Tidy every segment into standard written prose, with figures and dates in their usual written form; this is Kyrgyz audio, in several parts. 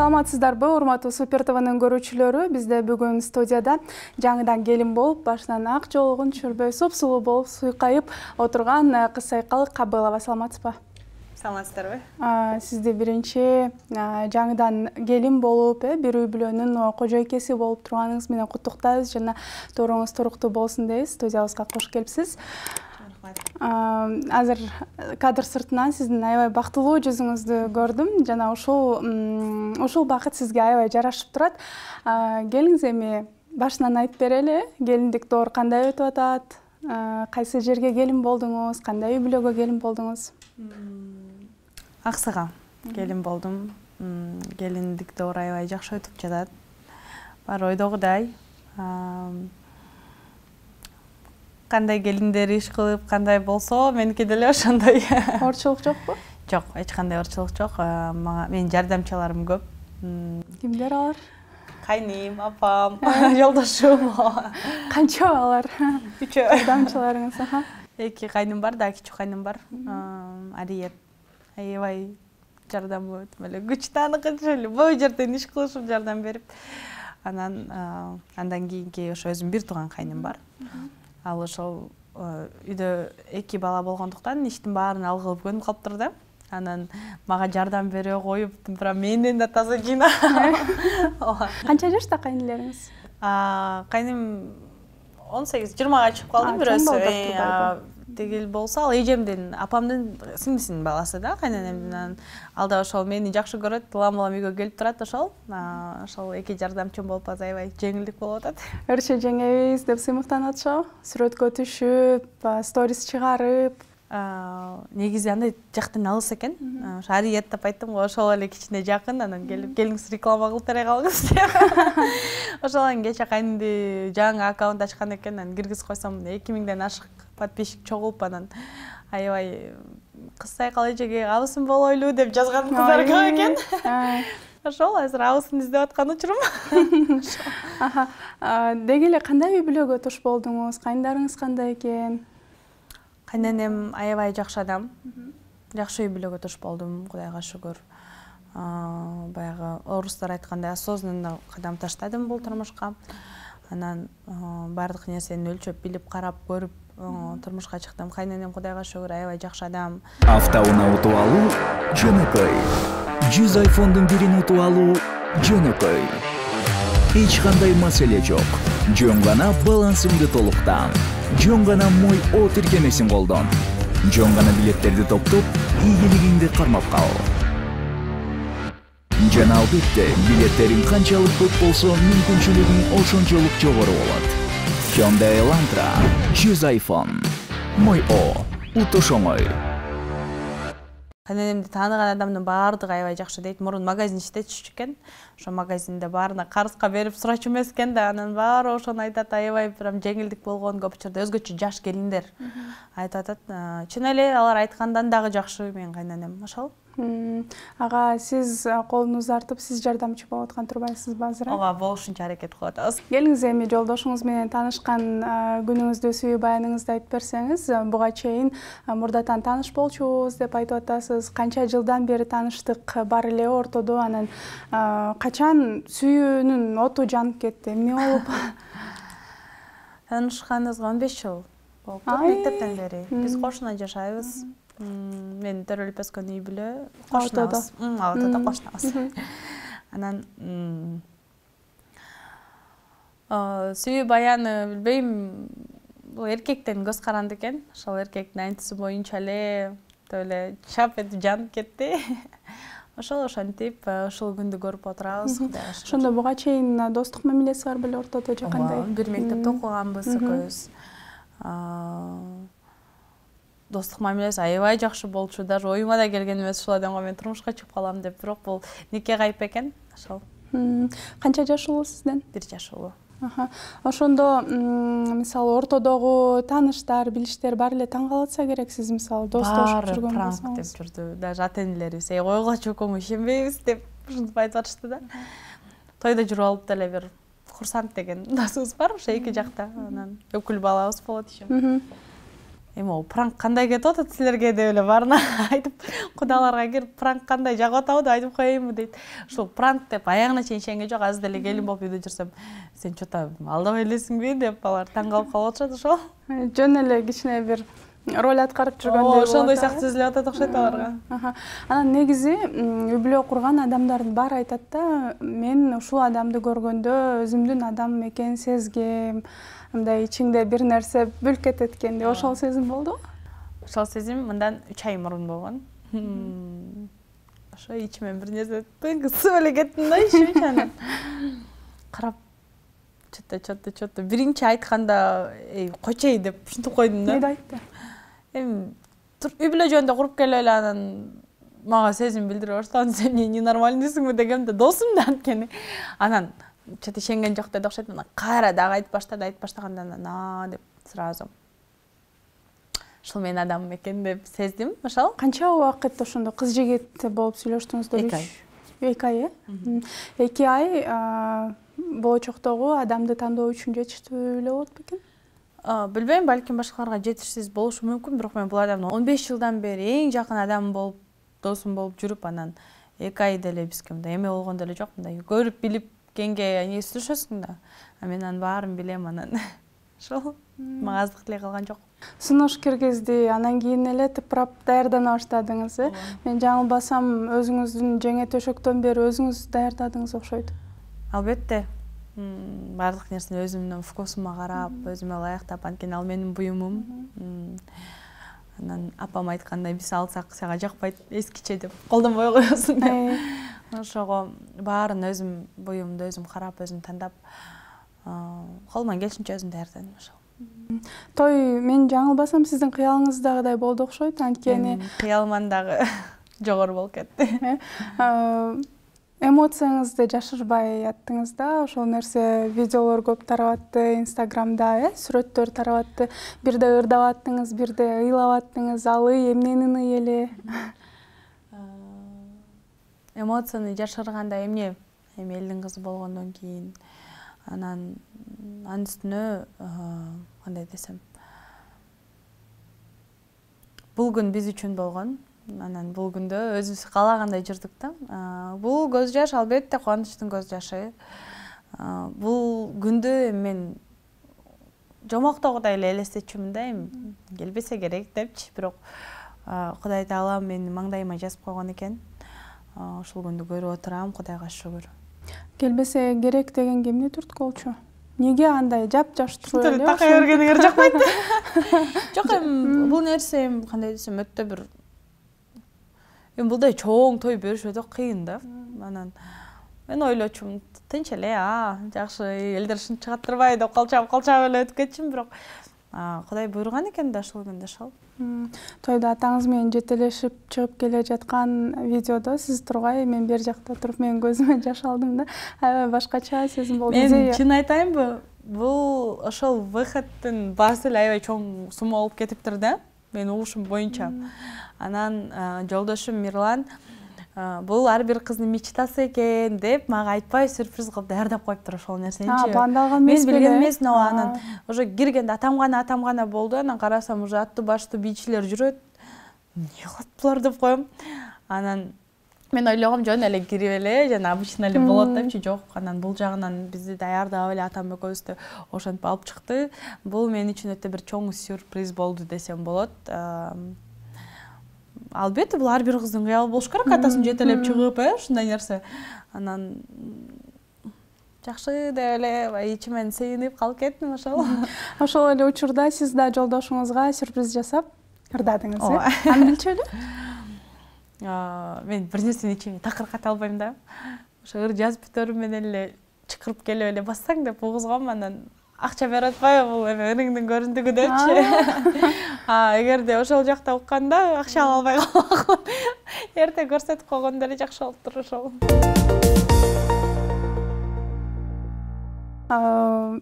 Саламатсыздарбы, урматтуу Супер ТВнын көрүүчүлөрү. Бизде бүгүн студияда жаңыдан келин болуп, башынан ак жолугун түшүрбөй супсулуу болуп суйкайып отурган кыз Айкал Кабылова. Саламатсызбы? Саламатсыздарбы? Сизди биринчи жаңыдан келин болуп, бир үй бүлөнүн кожойкеси болуп турганыңыз менен куттуктайбыз жана туруңуз туруктуу болсун дейбиз. Студиябызга кош келипсиз. Азыр кадр сыртынан сиздин аябай бактылуу жүзүңүздү көрдүм жана ушул бакыт сизге аябай жарашып турат. Келиңиз эми башынан айтып берели, келиндик доор кандай өтүп атат? Кайсы жерге келин болдуңуз? Кандай үй бүлөгө келин болдуңуз? Аксыга келин болдум. Келиндик доор аябай жакшы өтүп жатат. Бар ойдогудай. Кандай келиндер иш кылып, кандай болсо, меники деле ошондой. Орчулук жокпу? Жок, эч кандай орчулук жок. Менин жардамчыларым көп. Кимдер алар? Кайним, апам, жолдошум. Канча алар? 3 жардамчыларыңыз? 2 кайным бар, да кичүү кайным бар. Ариет. Аябай жардамы өтүп эле күчтүү аныкынча эле бой жерден иш кылышып жардам берип. Андан кийинки ошо өзүм бир тууган кайным бар. Ал ошол үйдө 2 бала болгондуктан иштин баарын ал кылып көнүп калыптыр да. Анан мага жардам бере коюп, прям менден да таза жыйна. Канча жашта кайнилериңиз? Кайным 18-20га чыгып калды бирөөсү. Тегил болсо, ал эжемдин, апамдын сиңдисинин баласы да, кайненемдин. Ал да ошол мени жакшы көрөт, улам-улам үйгө келип турат ошол. Ошол 2 жардамчым болуп аябай жеңилдик болуп атат. Өрчө жеңебиз деп сыймыктанып атышабы? Сүрөткө түшүп, сторис чыгарып. Негизи андай жактан алыс экен. Ошо Ариет деп айттым го, ошол эле кичине жакын, анан келип, келиңиз реклама кылып бере калыңыз деп. Ошолан кече кайнымды жаңы аккаунт ачкан экен, анан киргизип койсом, 2000ден ашык подписчик чогулуп, анан аябай кыз Айкал эжеге абысын болойлу деп жазган кыздар көп экен. Ошол азыр абысын издеп аткан учурум. Деги эле кандай үй бүлөгө туш болдуңуз? Кайындарыңыз кандай экен? Кайненем аябай жакшы адам. Жакшы үй бүлөгө туш болдум, Кудайга шүгүр. Баягы орустар айткандай осознанно кадам таштадым бул турмушка. Анан бардык нерсени өлчөп, билип, карап, көрүп турмушка чыктым. Кайненем Кудайга шүгүр аябай жакшы адам. Автоунаа утуп алуу жөнөкөй. 100 iPhone'дун бирин утуп алуу жөнөкөй. Эч кандай маселе жок. Жөн гана балансыңды толуктан. Жөн гана Мой О тиркемесин колдон. Жөн гана билеттерди топтоп, ийгилигиңди кармап кал. Жана албетте, билеттериң канчалык көп болсо, мүмкүнчүлүгүң ошончолук жогору болот. Hyundai Elantra 100 iPhone. Мой О утуш оңой. Кайненемди тааныган адамдын баардыгы аябай жакшы дейт. Мурун магазин иштетчү экен. Ошо магазинде баарына карызга берип сурачу эмес экен да, анан баары ошону айтат, аябай прям жеңилдик болгон, көп учурда өзгөчө жаш келиндер айтып атат. Чын эле алар айткандан дагы жакшы менин кайненем. Ошол. Ага, сиз колуңузду артып, сиз жардамчы болуп аткан турбайсызбы азыр? Ооба, болушунча аракет кылып атабыз. Келиңиз эми жолдошуңуз менен таанышкан күнүңүздү, сүйүү баяныңызды айтып берсеңиз. Буга чейин мурдатан тааныш болчубуз деп айтып атасыз. Канча жылдан бери тааныштык бар эле ортодо, анан качан сүйүүнүн оту жанып кетти? Эмне болуп? Таанышканыбызга 15 жыл болуптур, мектептен бери. Биз кошуна жашайбыз. Мен төрөлүп өскөн үй бүлө кошунабыз. Алтыда кошунабыз. Анан сүйүү баяны билбейм, бул эркектен көз каранды экен. Ошол эркектин айтуусу боюнча эле эле чап этип жанып кетти. Ошентип ушул күндү көрүп отурабыз. Ошондо буга чейин достук мамилеси бар беле ортодо же кандай? Бир мектепте окуганбыз экөөбүз. Достук мамилеси аябай жакшы болчу, даже оюма да келген эмес ушул адамга мен турмушка чыгып калам деп, бирок бул нике кайып экен. Ошол. Канча жаш улуу сизден? 1 жаш улуу. Ошондо мисалы ортодогу тааныштар, билиштер баары эле таң калатса керек, сиз мисалы достошуп жүргөн болсоңуз. Пранк деп жүрдү. Даже ата-энелерибиз койгула чокоңу ишенбейбиз деп ушинтип айтып атышты да. Тойдо жүрүп алып деле бир Курсант деген досубуз бар, ошо 2 жакта. Анан өкүл балабыз болот ишем. эми о пранк кандай кетип атат силерге деп эле баарына айтып кудаларга кирип пранк кандай жагып атабы деп айтып коеюнбу дейт. Ушул пранк деп аягына чейин ишенген жок. Азыр деле келин болуп үйдө жүрсөм сен чота алдабай элесиңби деп алар таң калып атышат ошол. Жөн эле кичине бир роль аткарып жүргөндөй. Ошондой сыяктуу сезилип атат окшойт аларга. Анан негизи үй бүлө курган адамдардын баары айтат да, мен ушул адамды көргөндө өзүмдүн адам экенин сезгем. Мындай ичиңде бир нерсе бүлк кетет экен деп. Ошол сезим болдубу? Ошол сезим мындан 3 ай мурун болгон. Ошо ичимен бир нерсе тыгысып эле кеттим да ичимчи анан. Карап чотто биринчи айтканда койчей деп ушинтип койдум да. Эмне айтты? Эми үй бүлө жөнүндө куруп келип эле анан мага сезим билдире баштаган, сен ненормальныйсыңбы дегем да, досум да анткени. Анан чөтө ишенген жок деди окшойт. Анан кайра дагы айтып баштаганда анан деп сразу ушул менин адамым экен деп сездим. Ошол. Канча убакыт ошондо кыз жигит болуп сүйлөштүңүздөр? 2 ай. 2 ай, 2 ай болочоктогу адамды тандоо үчүн жетиштүү эле болот бекен? Билбейм, балким башкаларга жетишсиз болушу мүмкүн, бирок мен бул адамды 15 жылдан бери эң жакын адамым болуп, досум болуп жүрүп, анан 2 ай деле бизге мындай эме болгон деле жок, мындай көрүп билип кенге не сүйлөшөсүң да. Мен анын баарын билем, анан ошол мага аздык деле калган жок. Сунуш киргизди, анан кийин эле тыпырап даярдана баштадыңыз, э? Мен жаңылбасам, өзүңүздүн жеңе төшөктөн бери өзүңүз даярдадыңыз окшойт. Албетте. Бардык нерсени өзүмдүн вкусума карап, өзүмө ылайыктап, анткени ал менин буюмум. Анан апам айткандай, биз алсак сага жакпайт, эскиче деп колдонбой коесуң деп. Ошого баарын өзүм буюмду өзүм карап, өзүм тандап, колуман келишинче өзүм даярдадым ошол. Той, мен жаңылбасам, сиздин кыялыңыздагыдай болду окшойт, анткени кыялыман дагы жогору болуп кетти. Эмоцияңызды жашырбай аттыңыз да, ошол нерсе видеолор көп тарап атты, Инстаграмда, сүрөттөр тарап атты. Бирде ырдап аттыңыз, бирде ыйлап аттыңыз, ал эмненин ый эле? Эмоцияны жашырганда эмне? Эми элдин кызы болгондон кийин анан анын үстүнө кандай десем, бул күн биз үчүн болгон. Анан бул күндө өзүбүз каалагандай жүрдүк да. Бул көз жаш албетте кубанычтын көз жашы. Бул күндү мен жомоктогудай эле элестетчүмүн да, эми келбесе керек депчи, бирок Кудай Таала мени маңдайыма жазып койгон экен. Ушул күндү көрүп отурам, Кудайга шүгүр. Келбесе керек дегенге эмне түрткү болчу? Неге андай жап-жаш туруп эле? Такай бергениңер жакпайт. Жок, эми бул нерсе кандай десем, өтө бир мындай чоң той бериш өтө кыйын да. Анан мен ойлочумун, тынч эле, жакшы, элдер ушинтип чыгаттырбай деп калчап эле өтүп кетчүмүн, бирок Кудай буйруган экен да ушул күндө ошол. Тойдо атаңыз менен жетелешип чыгып келе жаткан видеодо сиз тургай, мен бер жакта туруп, менин көзүмө жаш алдым да. Аябай башкача сезим болду. Мен чын айтайынбы, бул ошол выходтун баасы эле аябай чоң сумма болуп кетиптир да, менин угушум боюнча. Анан жолдошум Мирлан бул ар бир кыздын мечтасы экен деп мага айтпай сюрприз кылып даярдап коюптур ошол нерсеничи. Бандалган эмес беле? Мен билген эмесмин, анан уже киргенде атам гана болду. Анан карасам уже аттуу баштуу бийчилер жүрөт. Эмне кылат булар деп коем. Анан мен ойлогом жөн эле кирип эле, жана обычно эле болот депчи, жок. Анан бул жагынан бизди даярдап эле атам экөөбүздү ошентип алып чыкты. Бул мен үчүн өтө бир чоң сюрприз болду десем болот. Албетте, бул ар бир кыздын кыялы болуш керек, атасын жетелеп чыгып, ушундай нерсе. Анан жакшы деп эле ичимен сыйынып калып кеттим ошол. Ошол эле учурда сиз да жолдошуңузга сюрприз жасап ырдадыңыз, э? Аны билчү эле? Мен бир нерсени ичиме такырката албайм да. Ошо ыр жазып бүтөрү менен эле чыкырып келип эле бассаң деп угузгам, анан акча берип атпайбы бул эме ырыңдын көрүндүгү депчи. Эгерде ошол жакта укканда акча ала албай калган. Эрте көрсөтүп койгондо эле жакшы болуптур ошол.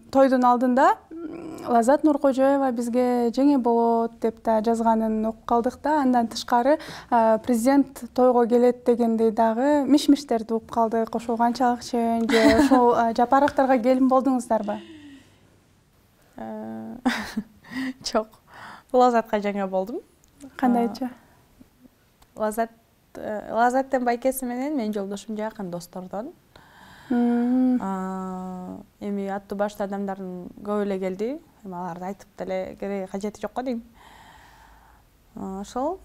Тойдун алдында Лазат Нуркожоева бизге жеңе болот деп да жазганын окуп калдык да. Андан тышкары президент тойго келет дегендей дагы миш-миштерди угуп калдык. Ошол канчалык чын же ошол жапарактарга келин болдуңуздарбы? Жок. Лазатка жаңы болдум. Кандайча? Лазаттын байкеси менен менин жолдошум жакын достордон. Эми аттуу башта адамдардын көп эле келди. Эми аларды айтып деле кереги кажети жок го дейм. Ошол.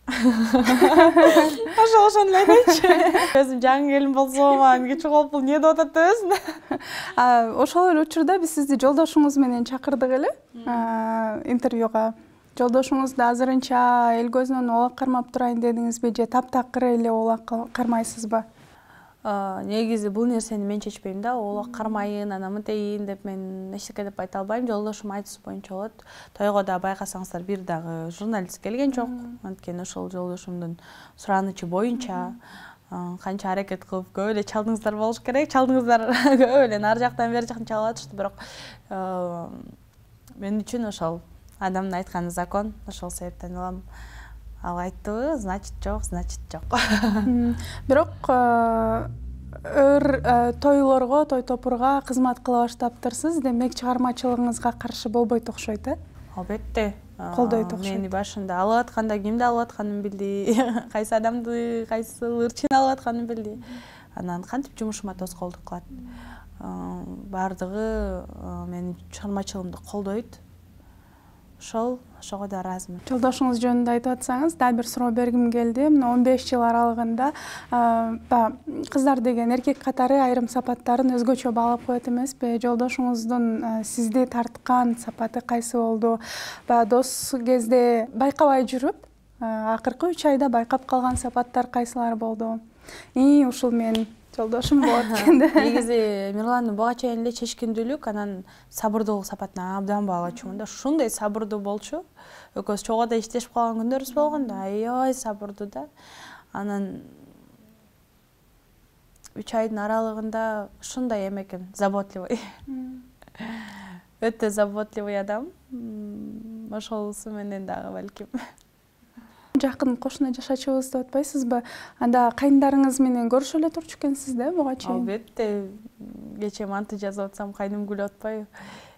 Ошону айтайынчы. Өзүм жаңы келин болсом, анан кече калып бул эмне деп атат деп өзүм. Ошол эле учурда биз сизди жолдошуңуз менен чакырдык эле интервьюга. Жолдошуңузду азырынча эл көзүнөн оолак кармап турайын дедиңизби же таптакыр эле оолак кармайсызбы? Негизи бул нерсени мен чечпейм да, оолак кармайын, анан мынтейин деп мен эчтеке деп айта албайм. Жолдошум айтысы боюнча болот. Тойго да байкасаңыздар бир дагы журналист келген жок. Анткени ошол жолдошумдун суранычы боюнча канча аракет кылып көп эле чалдыңыздар болуш керек. Чалдыңыздар көп эле нары жактан бери жактан чалып атышты, бирок мен үчүн ошол адамдын айтканы закон. Ошол себептен улам ал айттыбы, значит жок. Бирок тойлорго, той топурга кызмат кыла баштаптырсыз, демек чыгармачылыгыңызга каршы болбойт окшойт, Албетте. Колдойт окшойт. Мени башында алып атканда кимди алып атканын билди, кайсы адамды, кайсы ырчын алып атканын билди. Анан кантип жумушума тоскоолдук кылат. Бардыгы менин чыгармачылыгымды колдойт. Ошого да ыраазымын. Жолдошуңуз жөнүндө айтып атсаңыз, дагы бир суроо бергим келди. Мына 15 жыл аралыгында кыздар деген эркек катары айрым сапаттарын өзгөчө баалап коет эмеспи? Жолдошуңуздун сизди тарткан сапаты кайсы болду? Дос кезде байкабай жүрүп, акыркы 3 айда байкап калган сапаттар кайсылар болду? Ушул менин жолдошум болот дегенде. Негизи Мирландын буга чейин эле чечкиндүүлүк, анан сабырдуулук сапатына абдан баалачумун да. Ушундай сабырдуу болчу. Экөөбүз чогуу да иштешип калган күндөрүбүз болгон да. Аябай сабырдуу да. Анан 3 айдын аралыгында ушундай экен, заботливый. Өтө заботливый адам. Ошолусу менен дагы балким. Жакын кошуна жашачубуз деп атпайсызбы? Анда кайындарыңыз менен көрүшө эле турчу экенсиз да буга чейин? Албетте. Кечээ манты жазып атсам кайным күлүп атпайбы?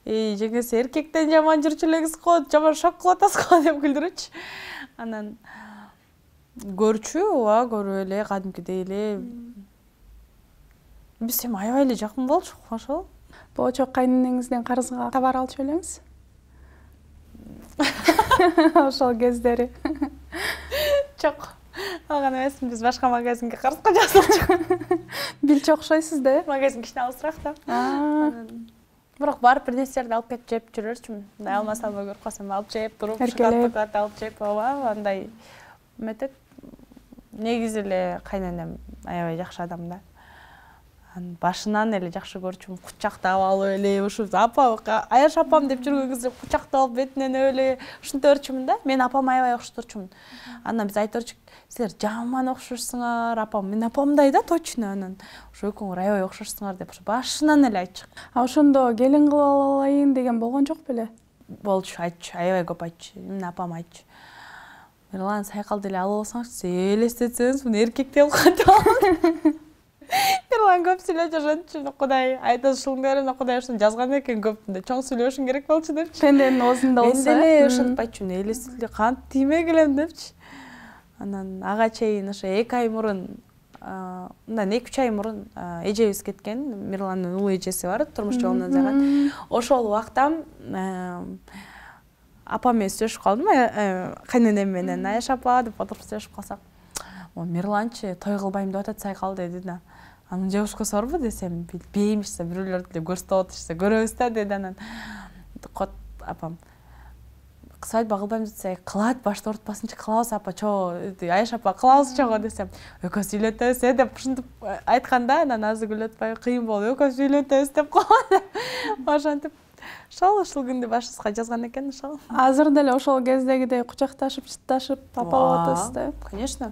Жеңеси эркектен жаман жүрчү элеңиз го, жаман шок кылып атасыз го деп күлдүрүчү. Анан көрчү, көрүп эле, кадимкидей эле. Биз эми аябай эле жакын болчук, ошол. Болочок кайненеңизден карызга товар алчу белеңиз? Ошол кездери. Жок. Алган эмесмин, биз башка магазинге карызга жазылчук. Билчү окшойсуз да? Магазин кичине алысыраак да. Бирок барып бир нерселерди алып кетип жеп жүрөрчүмүн. Мындай алмас албай көрүп калсам алып жеп туруп, шоколад алып жеп, андай метет. Негизи эле кайненем аябай жакшы адам да. Башынан эле жакшы көрчүмүн, кучактап алып эле, ушу апа, Аяш апам деп жүргөн кезде кучактап алып бетинен эле ушинтерчүмүн да. Мен апама аябай окшотурчумун. Андан биз айтырчук, силер жаман окшошсуңар, апам, мен апамдай да точно. Анан ошо экөөңөр аябай окшошсуңар деп башынан эле айтчык. Ошондо келин кылып алайын деген болгон жок беле? Болчу, айтчу, аябай көп айтчу. Мен апам айтчу. Мирлан, сайкалды эле алып алсаңызчы, элестетсеңиз, муну эркек деп кантип алат. Мирлан көп сүйлөп жашанчу, Кудай айтат ушуңдар, Кудай ушуну жазган экен көптүндө. Чоң сүйлөшүң керек болчу депчи. Пенденин оозунда болсо. Мен деле ушинтип айтчумун, элестетиле кантип тийме келем депчи. Анан ага чейин ошо 2 ай мурун, мындан 2-3 ай мурун эжебиз кеткен. Мирландын улуу эжеси бар, турмуш жолунан жагат. Ошол убакта апам менен сүйлөшүп калдым, кайненем менен. Аяш апа деп отуруп сүйлөшүп калсак, Мирланчы той кылбайм деп атат сайкал деди да. Анын жебушкасы барбы десем, билбеймишсе, бирөөлөрдү эле көрсөтүп атышса, көрөбүз да деди. Анан апам свадьба кылбайм десе, кылат, башта ортпасынчы кылабыз апа, чоо, Аяш апа кылабыз чого десем, экөөбүз үйлөнөбүз деп ушинтип айтканда, анан азыр күлүп атпайбы, кыйын болуп, экөөбүз үйлөнөбүз деп койгон. Ошентип ушул күндү башыбызга жазган экен, ошол. Азыр деле ошол кездегидей кучакташып, чытташып, апа болуп атасыз да? Конечно.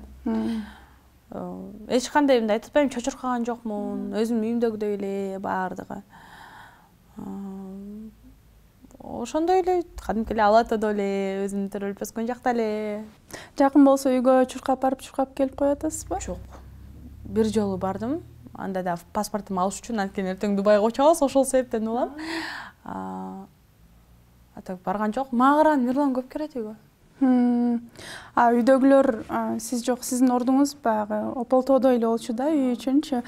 Эч кандай мындай айтып атпайм, чочуркаган жокмун, өзүмдүн үйүмдөгүдөй эле баардыгы. Ошондой эле, кадимки эле ала атодо эле, өзүм төрөлүп өскөн жакта эле. Жакын болсо үйгө чуркап барып, чуркап келип коюп атасызбы? Жок. Бир жолу бардым. Анда да паспортумду алыш үчүн, анткени эртең Дубайга учабыз, ошол себептен улам. так барган жок. Мага караганда Мирлан көп келет үйгө. Үйдөгүлөр сиз жок, сиздин ордуңуз баягы Ополтоодо эле болчу да, үй үчүнчү.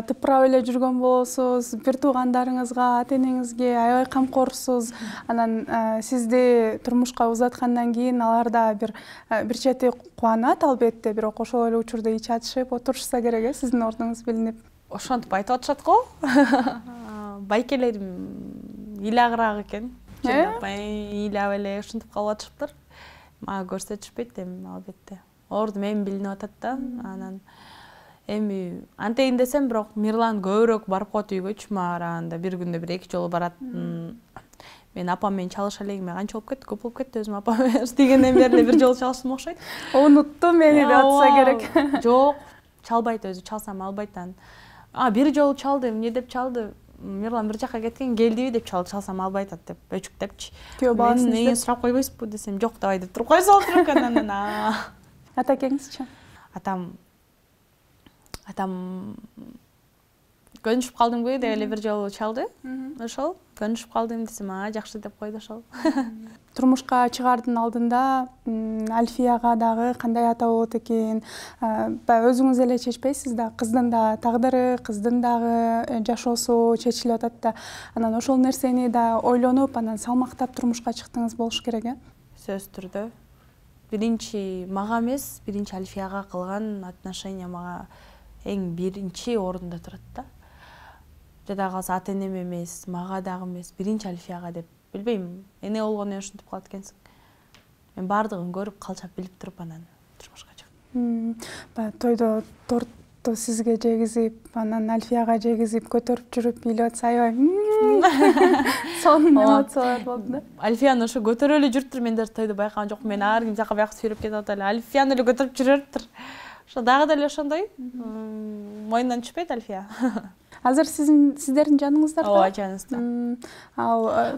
Тыпырап эле жүргөн болосуз, бир туугандарыңызга, ата энеңизге аябай камкорсуз. Анан сизди турмушка узаткандан кийин алар да бир чети кубанат албетте, бирок ошол эле учурда ич ачышып отурушса керек сиздин ордуңуз билинип. Ошентип айтып атышат го. Байкелерим ыйлагыраак экен. Ыйлап эле ушинтип калып атышыптыр. Мага көрсөтүшпөйт эми албетте. Ордум эми билинип атат да. Анан эми антейин десем, бирок Мирлан көбүрөөк барып коет үйгөчү. Мага караганда бир күндө бир 2 жолу барат. Мен апам менен чалыша элегиме канча болуп кетти, көп болуп кетти. Өзүм апам менен иштегенден бери эле бир жолу чалыштым окшойт. Унутту мени деп атса керек. Жок, чалбайт өзү, чалсам албайт анан. Бир жолу чалды, эмне деп чалды? Мирлан бир жака кеткен, келдиби деп чалды, чалсам албайт деп өчүктөпчү. Күйөө баласын Мен сурап койбойсузбу десем, жок давай деп туруп кой салып экен. Анан Атакеңизчи? Атам көнүшүп калдымбы деп эле бир жолу чалды. Ошол көнүшүп калдым десем, жакшы деп койду ошол. Турмушка чыгаардын алдында Альфияга дагы кандай ата болот экен, өзүңүз эле чечпейсиз да, кыздын да тагдыры, кыздын дагы жашоосу чечилип атат да. Анан ошол нерсени да ойлонуп, анан салмактап турмушка чыктыңыз болуш керек, Сөзсүз түрдө. Биринчи мага эмес, биринчи Альфияга кылган отношение мага эң биринчи орунда турат да. Жада калса ата энем эмес, мага дагы эмес, биринчи Альфияга деп. Билбейм, эне болгондон кийин ушинтип калат экенсиң. Мен бардыгын көрүп, калчап билип туруп анан турмушка чыктым. Баягы тойдо торту сизге жегизип, анан Альфияга жегизип, көтөрүп жүрүп бийлеп атса аябай сонун эмоциялар болду да. Альфияны ошо көтөрүп эле жүрүптүр, мен даже тойдо байкаган жокмун. Мен ар ким жака бияка сүйрөп кетип атып эле Альфияны эле көтөрүп жүрөптүр. Ошо дагы деле ошондой. Моюндан түшпөйт Альфия. Азыр сиздердин жаныңыздарда? Ооба, жаныбызда.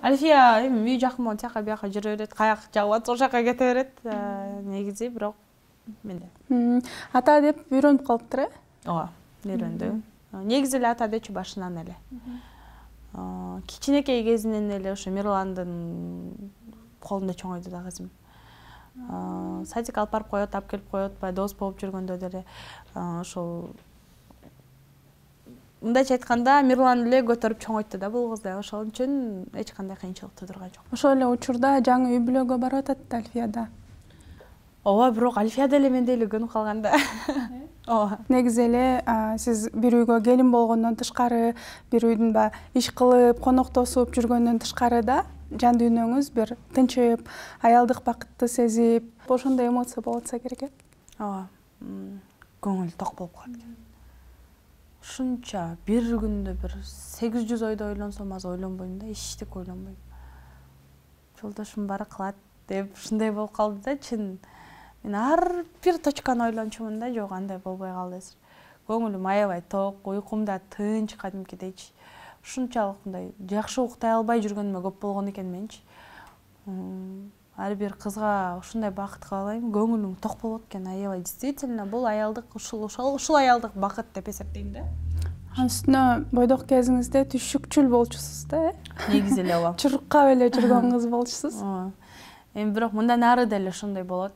Альфия эми үй жакын болгон тияка бияка жүрө берет, каяк жагып атса ошол жака кете берет. Негизи бирок менде. Ата деп үйрөнүп калыптыр, Ооба, үйрөндү. Негизи эле ата дечү башынан эле. Кичинекей кезинен эле ошо Мирландын колунда чоңойду да кызым. Садик алып барып коет, алып келип коет, баягы дос болуп жүргөндө деле ошол мындайча айтканда Мирлан эле көтөрүп чоңойтты да бул кызды. Ошол үчүн эч кандай кыйынчылык туудурган жок. Ошол эле учурда жаңы үй бүлөгө барып атат Альфияда. Ооба, бирок Альфия деле мендей эле көнүп калган да. Ооба. Негизи эле сиз бир үйгө келин болгондон тышкары, бир үйдүн иш кылып, коноктосуп жүргөндөн тышкары да жан дүйнөңүз бир тынчып, аялдык бакытты сезип, ошондой эмоция болуп атса керек. Ооба. Көңүл ток болуп калат экен. Ушунча бир күндө бир 800 ойду ойлонсом аз ойлонбойм да, эчтек ойлонбойм. Жолдошум баары кылат деп ушундай болуп калды да, чын. Мен ар бир точканы ойлончумун да, жок андай болбой калды азыр. Көңүлүм аябай ток, уйкум да тынч кадимкидейчи. Ушунчалык мындай жакшы уктай албай жүргөнүмө көп болгон экен менчи. Ар бир кызга ушундай бакыт каалайм, көңүлүм ток болот экен, аябай. Действительно, бул аялдык ушул аялдык бакыт деп эсептейм да. Анын үстүнө бойдок кезиңизде түшүкчүл болчусуз да, Негизи эле ооба. Чуркап эле жүргөн кыз болчусуз. Эми бирок мындан ары деле ошондой болот.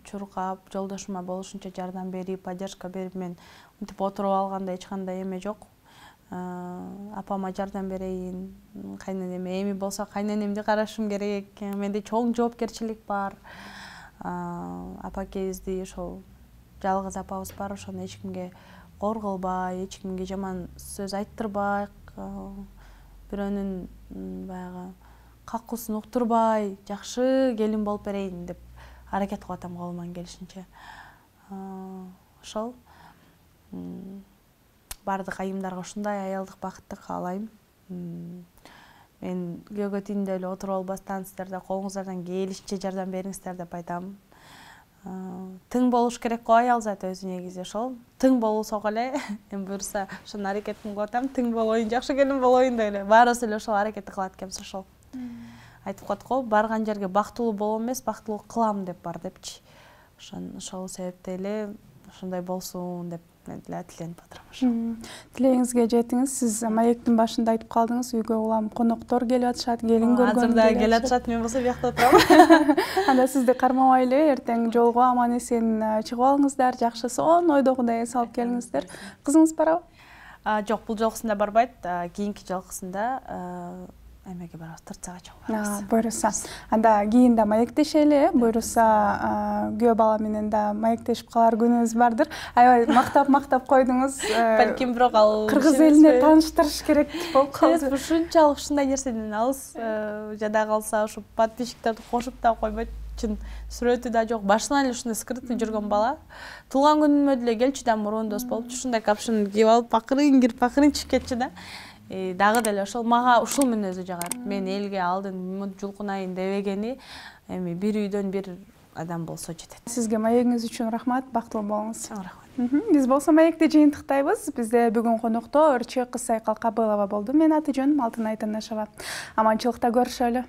Чуркап, жолдошума болушунча жардам берип, поддержка берип, мен мынтип отуруп алганда эч кандай эме жок. Апама жардам берейин, кайненеме, эми болсо кайненемди карашым керек, менде чоң жоопкерчилик бар. Апакебизди ошол жалгыз апабыз бар, ошону эч кимге кор кылбай, эч кимге жаман сөз айттырбай, бирөөнүн баягы какуусун уктурбай, жакшы келин болуп берейин деп аракет кылып атам колуман келишинче. Ошол бардык айымдарга ушундай аялдык бакытты каалайм. Мен күйөөгө тийиндей эле отуруп албастан сиздер да колуңуздардан келишинче жардам бериңиздер деп айтам. Тың болуш керек го аял заты өзү негизи ошол. Тың болсок эле, эми буюрса ошонун аракетин кылып атам, тың болоюн, жакшы келин болоюн деп эле. Баарыбыз эле ошол аракетти кылат экенбиз ошол. Айтып коет го, барган жерге бактылуу болом эмес, бактылуу кылам деп бар депчи. Ошол себептен эле ошондой болсун деп эле тиленип атырам ошо. Тилегиңизге жетиңиз. Сиз маектин башында айтып калдыңыз, үйгө улам коноктор келип атышат, келин көргөн. Азырда келип атышат, мен болсо биякта отурам. Анда сизди кармабай эле эртең жолго аман эсен чыгып алыңыздар, жакшы сонун ойдогудай салып келиңиздер. Кызыңыз барабы? Жок, бул жолкусунда барбайт. Кийинки жолкусунда эмеге барабыз, Тырцага чыгып барабыз. Буйруса. Анда кийин да маектешели, буйруса күйөө бала менен да маектешип калар күнүбүз бардыр. Аябай мактап койдуңуз. Балким бирок ал кыргыз элине тааныштырыш керек болуп калды. Ушунчалык ушундай нерседен алыс жада калса, ушу подписчиктерди кошуп да койбойт. Чын сүрөтү да жок. Башынан эле ушундай скрытый жүргөн бала. Туулган күнүмө деле келчү да, мурун дос болуп, ушундай капшын кийип алып, акырын кирип, акырын чыгып кетчү да. Дагы деле ошол мага ушул мүнөзү жагат. Мен элге алдын жулкунайын дебегени, эми бир үйдөн бир адам болсо жетет. Сизге маегиңиз үчүн рахмат, бактылуу болуңуз. Рахмат. Биз болсо маекти жыйынтыктайбыз. Бизде бүгүн конокто Өрчү Кызсайкал Кабылова болду. Менин аты жөнүм Алтынай Танашева. Аманчылыкта көрүшөлү.